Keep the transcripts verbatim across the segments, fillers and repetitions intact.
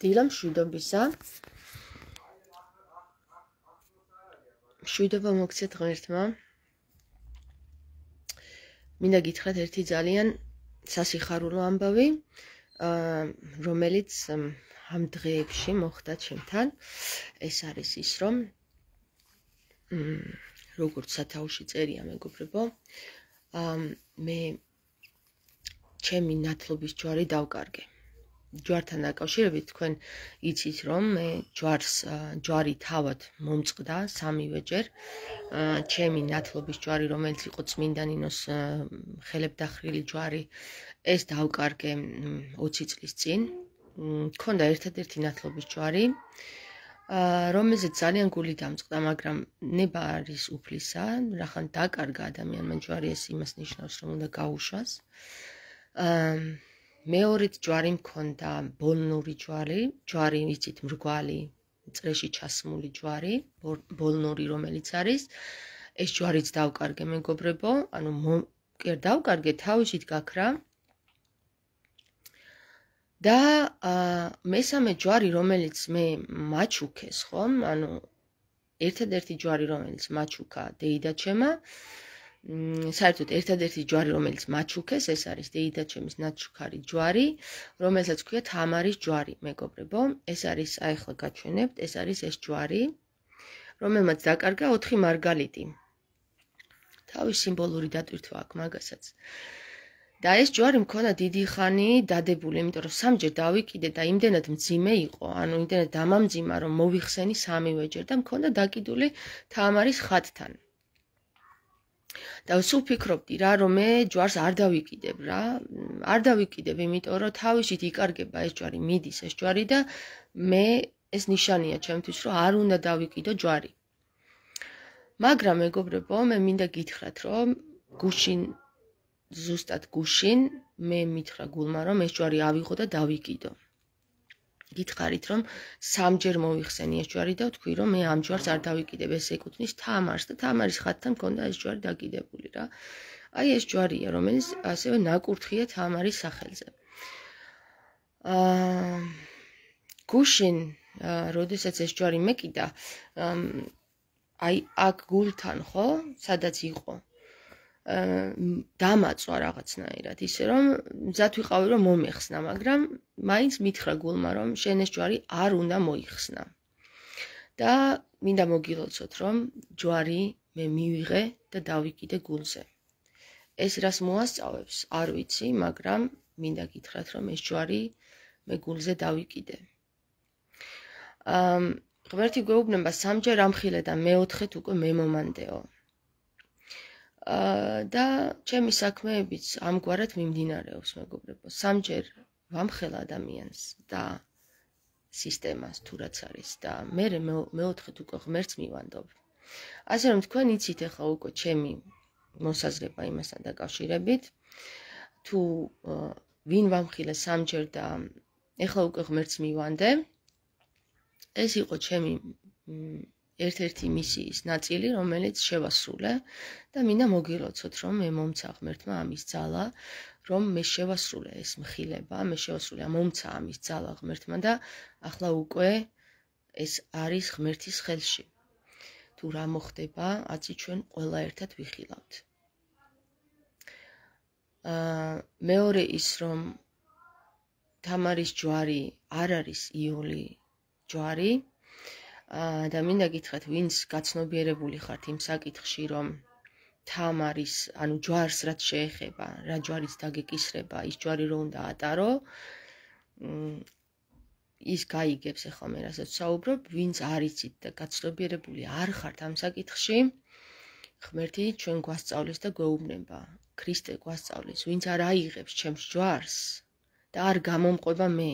დილა მშვიდობისა. მშვიდობა მოგცეთ ღმერთმა. მინდა გითხრათ ერთი ძალიან სასიხარულო ამბავი, რომელიც ამ დღეებში მოხდა ჩემთან. ეს არის ის, რომ როგორც სათაურში წერია, მეგობრებო, მე ჩემი ნათლობის ჯვარი დავკარგე. ჯვართან დაკავშირებით თქვენ იცით, რომ მე ჯვარს ჯვარი თავად მომწყდა სამივეჯერ. ჩემი ნათლობის ჯვარი, რომელიც იყო წმინდა ნინოს ხელებდახრილი ჯვარი, ეს დავკარგე ოცი წლის წინ. მქონდა ერთადერთი ნათლობის ჯვარი, რომელზეც ძალიან გული დამწყდა, მაგრამ ნება არის უფლისა, რახან დაკარგა ადამიანმა ჯვარი, ეს იმას ნიშნავს, რომ უნდა გაუშვას. მეორედ ჯვარი მქონდა ბოლნური ჯვარი, ჯვარი იცით მრგვალი, წრეში ჩასმული ჯვარი, ბოლნური რომელიც არის. ეს ჯვარიც დავკარგე, მეგობრებო, ანუ კი დავკარგე, თავისით გაქრა. და მესამე ჯვარი, რომელიც მე მაჩუქეს, ხომ? ანუ ერთადერთი ჯვარი, რომელიც მაჩუქა დეიდაჩემა, საერთოდ ერთადერთი ჯვარი, რომელიც მაჩუქეს, ეს არის დეიდაჩემის ნაჩუქარი ჯვარი, რომელსაც ქვია თამარის ჯვარი, მეგობრებო. ეს არის, აი ახლა გაჩვენებთ, ეს არის ეს ჯვარი, რომელმაც დაკარგა ოთხი მარგალიტი. თავის სიმბოლური დატვირთვა აქვს მაგასაც. და ეს ჯვარი მქონდა დიდი ხანი დადებული, იმიტომ რომ სამჯერ დავიკიდე და იმდენად მძიმე იყო, ანუ იმდენად დამამძიმა, რომ მოვიხსენი სამივეჯერ და მქონდა დაკიდული თამარის ხატთან. და სულ ფიქრობდი რა, რომ მე ჯვარს არ დავიკიდებ რა, არ დავიკიდებ, იმიტომ რომ თავისით იკარგება ეს ჯვარი, მიდის ეს ჯვარი და მე ეს ნიშანია ჩემთვის, რომ არ უნდა დავიკიდო ჯვარი. მაგრამ მეგობრებო, მე მინდა გითხრათ, რომ გუშინ ზუსტად გუშინ მე მითხრა გულმა, რომ ეს ჯვარი ავიღო და დავიკიდო. გითხარით, რომ სამჯერ მოვიხსენი ეს ჯვარი და ვთქვი, რომ მე ამ ჯვარს არ დავიკიდებ, ეს ეკუთვნის თამარს და თამარის ხატთან მქონდა ეს ჯვარი დაკიდებული რა. აი ეს ჯვარია, რომელიც ასევე ნაკურთხია თამარის სახელზე. აა გუშინ, როდესაც ეს ჯვარი მეკიდა, აი აქ გულთან, ხო, სადაც იყო, დამაწვა რაღაცნაირად, ისე რომ მზად ვიყავი, რომ მომეხსნა, მაგრამ მაინც მითხრა გულმა, რომ შენ ეს ჯვარი არ უნდა მოიხსნა. და მინდა მოგილოცოთ, რომ ჯვარი მე მივიღე და დავიკიდე გულზე. ეს რას მოასწავებს, არ ვიცი, მაგრამ მინდა გითხრათ, რომ ეს ჯვარი მე გულზე დავიკიდე. ღმერთი გვეუბნება სამჯერ ამხილე და მეოთხეთ უკვე მე მომანდეო. და ჩემი საქმეებიც ამგვარად მიმდინარეობს, მეგობრებო. სამჯერ ვამხელ ადამიანს და სისტემას თუ რაც არის და მე მეოთხეთ უკვე ღმერთს მივანდობ. ასე რომ თქვენ იცით ახლა უკვე ჩემი მოსაზრება იმასთან დაკავშირებით, თუ ვინ ვამხილე სამჯერ და ახლა უკვე ღმერთს მივანდე, ეს იყო ჩემი ერთ-ერთი მისიის ნაწილი, რომელიც შევასრულე და მინდა მოგილოცოთ, რომ მე მომცა ღმერთმა ამის ძალა, რომ მე შევასრულე ეს მხილება, მე შევასრულე, მომცა ამის ძალა ღმერთმა და ახლა უკვე ეს არის ღმერთის ხელში. თუ რა მოხდება, აცი ჩვენ ყველა ერთად ვიხილავთ. მეორე ის, რომ თამარის ჯვარი არ არის იული ჯვარი, და მინდა გითხრათ, ვინც გაცნობიერებული ხართ იმ საკითხში, რომ თამარის, ანუ ჯვარს რაც შეეხება, რა ჯვარიც დაგეკისრება, ის ჯვარი რო უნდა ატარო, ის გაიგებს ახლა მე რასაც ვსაუბრობ, ვინც არ იცით და გაცნობიერებული არ ხართ ამ საკითხში, ღმერთი ჩვენ გვასწავლის და გვეუბნება, ქრისტე გვასწავლის, ვინც არ აიღებს ჩემს ჯვარს და არ გამომყვება მე,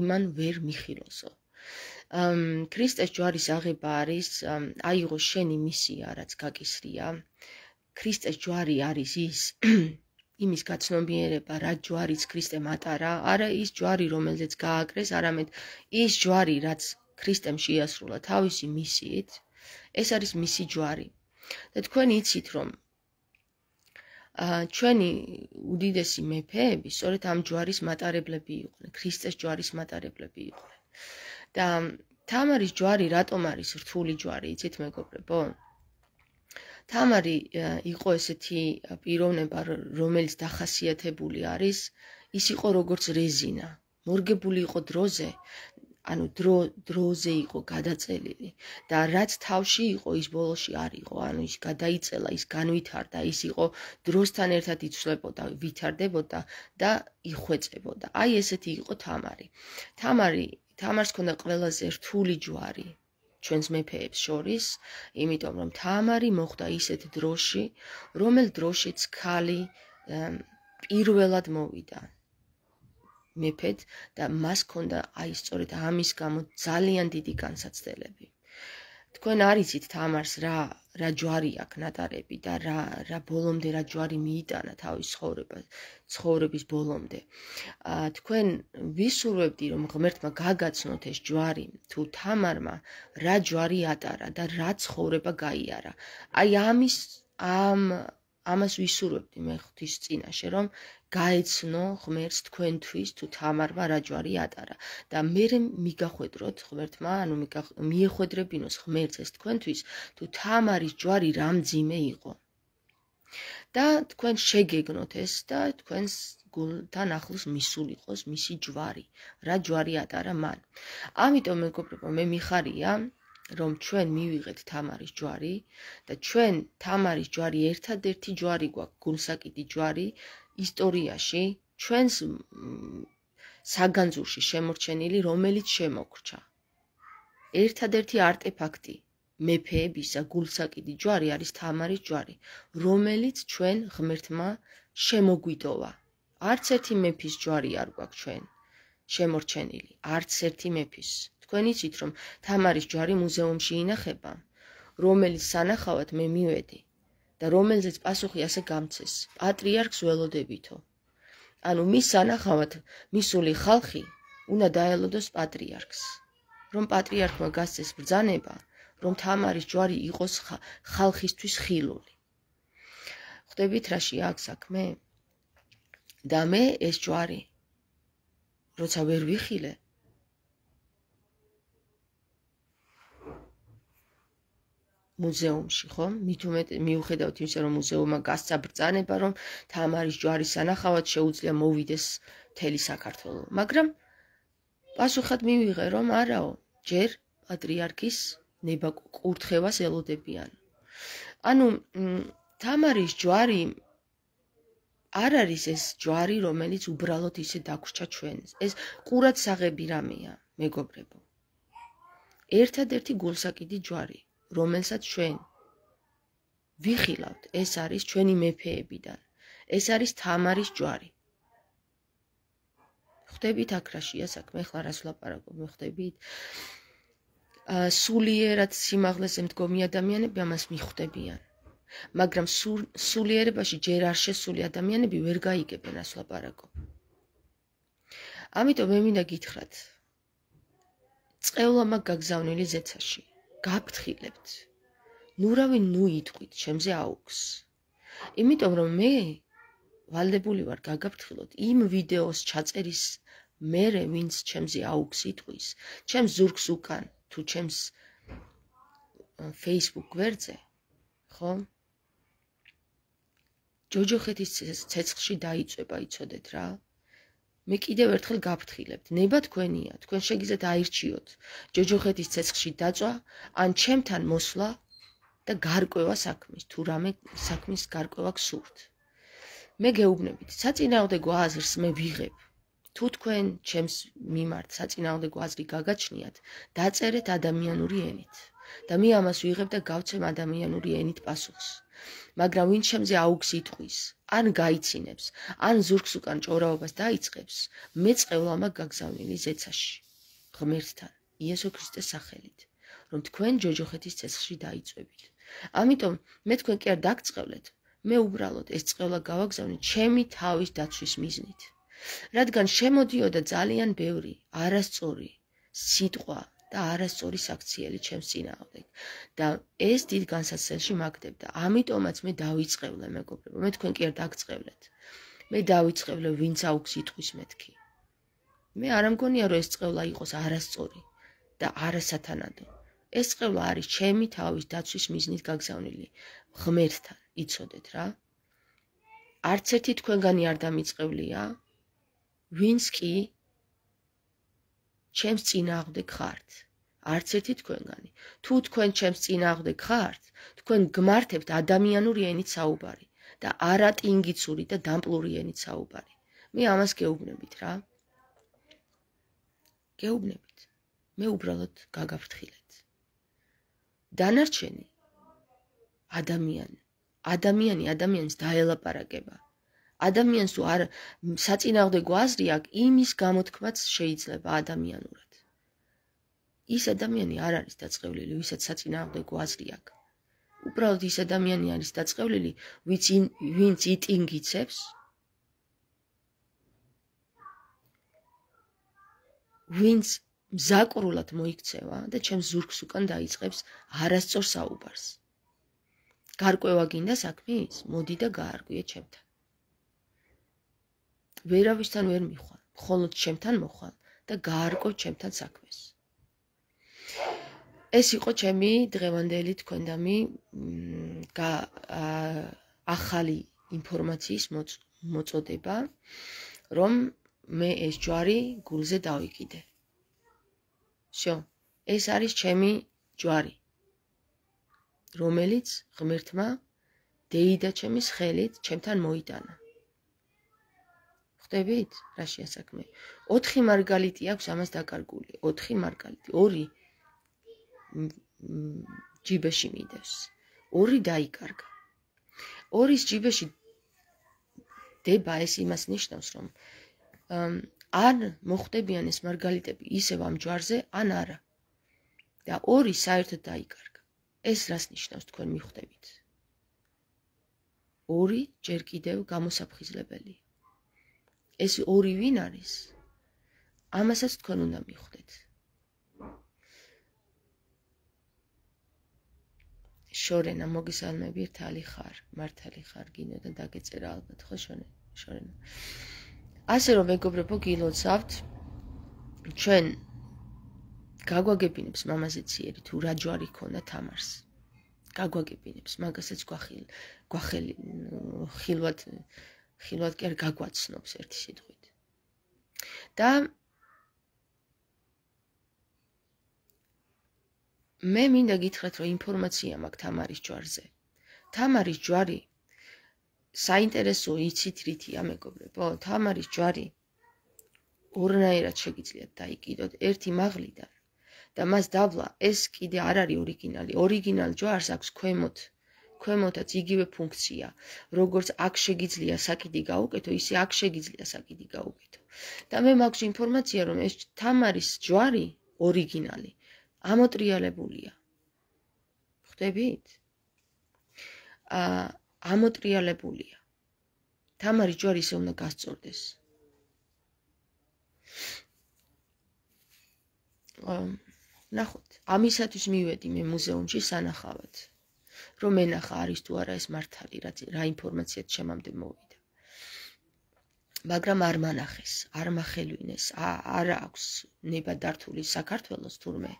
იმან ვერ მიხილოსო. ქრისტეს ჯვარის აღება არის, აიღო შენი მისია, რაც გაკისრია. ქრისტეს ჯვარი არის ის, იმის გაცნობიერება, რა ჯვარიც ქრისტემ ატარა, არა ის ჯვარი, რომელზეც გააკრეს, არამედ ის ჯვარი, რაც ქრისტემ შეასრულა თავისი მისიით, ეს არის მისი ჯვარი. და თქვენ იცით, რომ ჩვენი უდიდესი მეფეები სწორედ ამ ჯვარის მატარებლები იყვნენ, ქრისტეს ჯვარის მატარებლები იყვნენ. და თამარის ჯვარი რატომ არის რთული ჯვარი, იცით მეგობრებო? თამარი იყო ესეთი პიროვნება, რომელიც დახასიათებული არის, ის იყო როგორც რეზინა, მორგებული იყო დროზე, ანუ დრო დროზე იყო გადაწელილი და რაც თავში იყო, ის ბოლოში არ იყო, ანუ ის გადაიწელა, ის განვითარდა, ის იყო დროსთან ერთად იცვლებოდა, ვითარდებოდა და იხვეწებოდა. აი ესეთი იყო თამარი. თამარი, თამარს ჰქონდა ყველაზე რთული ჯვარი ჩვენს მეფეებს შორის, იმიტომ რომ თამარი მოხვდა ისეთ დროში, რომელ დროშიც ქალი პირველად მოვიდა მეფედ და მას ჰქონდა აი სწორედ ამის გამო ძალიან დიდი განსაცდელები. თქვენ არიცით თამარს რა რა ჯვარი აქვს ნატარები და რა რა ბოლომდე რა ჯვარი მიიტანა თავის ცხოვრებას, ცხოვრების ბოლომდე. თქვენ ვისურვებდი რომ ღმერთმა გაგაცნოთ ეს ჯვარი, თუ თამარმა რა ჯვარი ატარა და რა ცხოვრება გაიარა. აი ამის ამ ამას ვისურვებდი მე ღვთის წინაშე, რომ გაეცნო ღმერთს თქვენთვის თუ თამარმა რა ჯვარი ატარა და მე მიგახვედროთ ღმერთმა, ანუ მიეხვედრებინოს ღმერთს ეს თქვენთვის, თუ თამარის ჯვარი რა მძიმე იყო. და თქვენ შეგეგნოთ ეს და თქვენს გულთან ახლოს მისულიყოს მისი ჯვარი, რა ჯვარი ატარა მან. ამიტომ მეგობრებო, მე მიხარია რომ ჩვენ მივიღეთ თამარის ჯვარი და ჩვენ თამარის ჯვარი ერთადერთი ჯვარი გვაქვს, გულსაკიდი ჯვარი ისტორიაში ჩვენს საგანძურში შემორჩენილი, რომელიც შემოგრჩა. ერთადერთი არტეფაქტი მეფეებისა გულსაკიდი ჯვარი არის თამარის ჯვარი, რომელიც ჩვენ ღმერთმა შემოგვიტოვა. არც ერთი მეფის ჯვარი არ გვაქვს ჩვენ შემორჩენილი, არც ერთი მეფის. თქვენ იცით რომ თამარის ჯვარი მუზეუმში ინახება, რომელიც სანახავად მე მივედი და რომელზეც პასუხი ასე გამცეს, პატრიარქს ველოდებითო. ანუ მის სანახავად მისული ხალხი უნდა დაელოდოს პატრიარქს, რომ პატრიარქმა გასცეს ბრძანება, რომ თამარის ჯვარი იყოს ხალხისთვის ხილული. ხვდებით რაში აქვს საქმე? და მე ეს ჯვარი როცა ვერ ვიხილე, მუზეუმში, ხო? მით უმეტ მიუხედავად იმისა, რომ მუზეუმმა გასცა ბრძანება, რომ თამარის ჯვარის სანახავად შეუძლია მოვიდეს მთელი საქართველო. მაგრამ პასუხად მივიღე, რომ არაო, ჯერ პატრიარქის ნება კურთხევას ელოდებიან. ანუ თამარის ჯვარი არ არის ეს ჯვარი, რომელიც უბრალოდ ისე დაგვრჩა ჩვენს. ეს ყურადსაღები რამეა, მეგობრებო. ერთადერთი გულსაკიდი ჯვარი, რომელსაც ჩვენ ვიხილავთ, ეს არის ჩვენი მეფეებიდან. ეს არის თამარის ჯვარი. ხვდებით აქ რაშია საქმე, ახლა რას ვლაპარაკობ, მე ხვდებით? სულიერად სიმაღლეზე მდგომი ადამიანები ამას მიხვდებიან. მაგრამ სულიერებაში ჯერ არ შესული ადამიანები ვერ გაიგებენ რას ვლაპარაკობ. ამიტომ მე მინდა გითხრათ, წყევლა მაგ გაგზავნილი ზეცაში. გაფრთხილებთ. ნუ რავი ნუ იტყვით ჩემზე აუქს. იმიტომ რომ მე ვალდებული ვარ გაგაფრთხილოთ იმ ვიდეოს ჩაწერის მერე, ვინც ჩემზე აუქს იტყვის, ჩემს ზურგს უკან თუ ჩემს Facebook გვერდზე, ხო? ჯოჯოხეთის ცეცხლში დაიწვება, იცოდეთ რა? მე კიდევ ერთხელ გაფრთხილებთ, ნება თქვენია, თქვენ შეგიძლიათ აირჩიოთ ჯოჯოხეთის ცეცხლში დაწვა, ან ჩემთან მოსვლა და გარკვევა საქმის, თუ რამე საქმის გარკვევა გსურთ. მე გეუბნებით, საწინააღმდეგო აზრს მე ვიღებ. თუ თქვენ ჩემს მიმართ საწინააღმდეგო აზრი გაგაჩნიათ, დაწერეთ ადამიანური ენით და მე ამას ვიღებ და გავცემ ადამიანური ენით პასუხს. მაგრამ ვინ ჩემზე აუქს იტყვის, ან გაიცინებს, ან ზურგს უკან ჭორაობას დაიწყებს, მე წყევლა მაგ გაგზავნილი ზეცაში, ღმერთთან, იესო ქრისტეს სახელით, რომ თქვენ ჯოჯოხეთის ცეცხლში დაიწვევით. ამიტომ მე თქვენ კი არ დაგწყევლეთ, მე უბრალოდ ეს წყევლა გავაგზავნე ჩემი თავის დაცვის მიზნით. რადგან შემოდიოდა ძალიან ბევრი არასწორი სიტყვა და არასწორი საქციელი ჩემს წინააღმდეგ. და ეს დიდ განსაცდელში მაგდებდა. ამიტომაც მე დავიწყევლე, მეგობრებო, მე თქვენ კი არ დაგწყევლეთ. მე დავიწყევლე, ვინც აუქს იტყვის მეთქი. მე არ ამგონია, რომ ეს წყევლა იყოს არასწორი და არასათანადო. ეს წყევლა არის ჩემი თავის დაცვის მიზნით გაგზავნილი. ღმერთთან, იცოდეთ რა. არც ერთი თქვენგანი არ დამიწყევლია, ვინც კი ჩემს წინააღმდეგ ხართ. არც ერთი თქვენგანი. თუ თქვენ ჩემს წინააღმდეგ ხართ, თქვენ გმართებთ ადამიანური ენით საუბარი და არა ტინგიცური და დამპლური ენით საუბარი. მე ამას გეუბნებით რა. გეუბნებით. მე უბრალოდ გაგაფრთხილეთ. დანარჩენი ადამიანი, ადამიანი ადამიანს დაელაპარაკება. ადამიანს თუ არ საწინააღმდეგო აზრი აქვს, იმის გამოთქმაც შეიძლება ადამიანურად. ის ადამიანი არ არის დაწყევლილი, ვისაც საწინააღმდეგო აზრი აქვს. უბრალოდ ის ადამიანი არის დაწყევლილი, ვინც იტინგიცებს, ვინც მზაკრულად მოიქცევა და ჩემს ზურგს უკან დაიწყებს არასწორ საუბარს. გარკვევა გინდა საქმის? მოდი და გაარკვიე ჩემთან. ვერავისთან ვერ მიხვალ, მხოლოდ ჩემთან მოხვალ და გაარკვევ ჩემთან საქმეს. ეს იყო ჩემი დღევანდელი თქვენდამი ახალი ინფორმაციის მოწოდება, რომ მე ეს ჯვარი გულზე დავიკიდე. всё, ეს არის ჩემი ჯვარი, რომელიც ღმერთმა დეიდა ჩემის ხელით ჩემთან მოიტანა. ხვდებით, რა შეასაქმე? ოთხი მარგალიტი აქვს ამას დაკარგული, ოთხი მარგალიტი, ორი ჯიბეში მიდევს, ორი დაიკარგა. ორის ჯიბეში დება, ეს იმას ნიშნავს, რომ ან მოხვდებიან ეს მარგალიტები ისევ ამ ჯვარზე, ან არა. და ორი საერთოდ დაიკარგა. ეს რას ნიშნავს თქვენ მიხვდებით? ორი ჯერ კიდევ გამოსაფხიზლებელია. ეს ორი ვინ არის? ამასაც თქვენ უნდა მიხვდეთ. შორენა, მოგესალმები, ერთალი ხარ, მართალი ხარ, გინდა დაგეწერა ალბათ, ხო შორენა? ასე რომ მეგობრებო, გილოცავთ, ჩვენ გაგვაგებინებს მამაზე ციერი თუ რა ჯვარი ქონდა თამარს. გაგვაგებინებს, მაგასაც გვახილ, გვახელი, ხილვად, ხილვად კი არ გაგვაცნობს ერთი სიტყვით. და მე მინდა გითხრათ, რომ ინფორმაცია მაქვს თამარის ჯვარზე. თამარის ჯვარი საინტერესო იცით რითია, მეგობრებო? თამარის ჯვარი ორნაირად შეგიძლიათ დაიკიდოთ, ერთი მაღლიდან და მას დავლა, ეს კიდე არ არის ორიგინალი. ორიგინალ ჯვარს აქვს ქვემოთ, ქვემოთაც იგივე ფუნქცია, როგორც აქ შეგიძლია საკიდი გაუკეთო, ისე აქ შეგიძლია საკიდი გაუკეთო. და მე მაქვს ინფორმაცია, რომ ეს თამარის ჯვარი ორიგინალი ამოტრიალებულია. ხვდებით? აა ამოტრიალებულია. თამარის ჯვარი ისე უნდა გასწორდეს. ნახოთ, ამისათვის მივედი მე მუზეუმში სანახავად, რომ ენახა არის თუ არა ეს მართალი, რა ინფორმაციაც ჩემამდე მოვიდა. მაგრამ არ მანახეს, არ მახელვინეს, არ აქვს ნება დართული საქართველოს თურმე.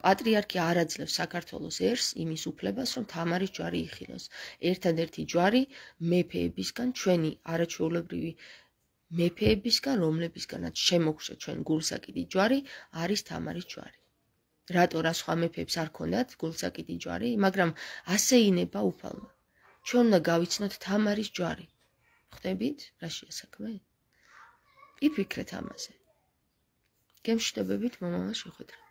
პატრიარქი არ აძლევს საქართველოს ერს იმის უფლებას, რომ თამარის ჯვარი იხილოს. ერთადერთი ჯვარი მეფეებისგან, ჩვენი არაჩვეულებრივი მეფეებისგან, რომლებისგანაც შემოგშა ჩვენ გულსაკიდი ჯვარი, არის თამარის ჯვარი. რატო რა სხვა მეფეებს არ ქონდათ გულსაკიდი ჯვარი, მაგრამ ასე ინება უფალმა. ჩვენ უნდა გავიცნოთ თამარის ჯვარი. ხვდებით, რა შეასაქმე? იფიქრეთ ამაზე. გემშვიდობებით, მომავალ შეხვედრას.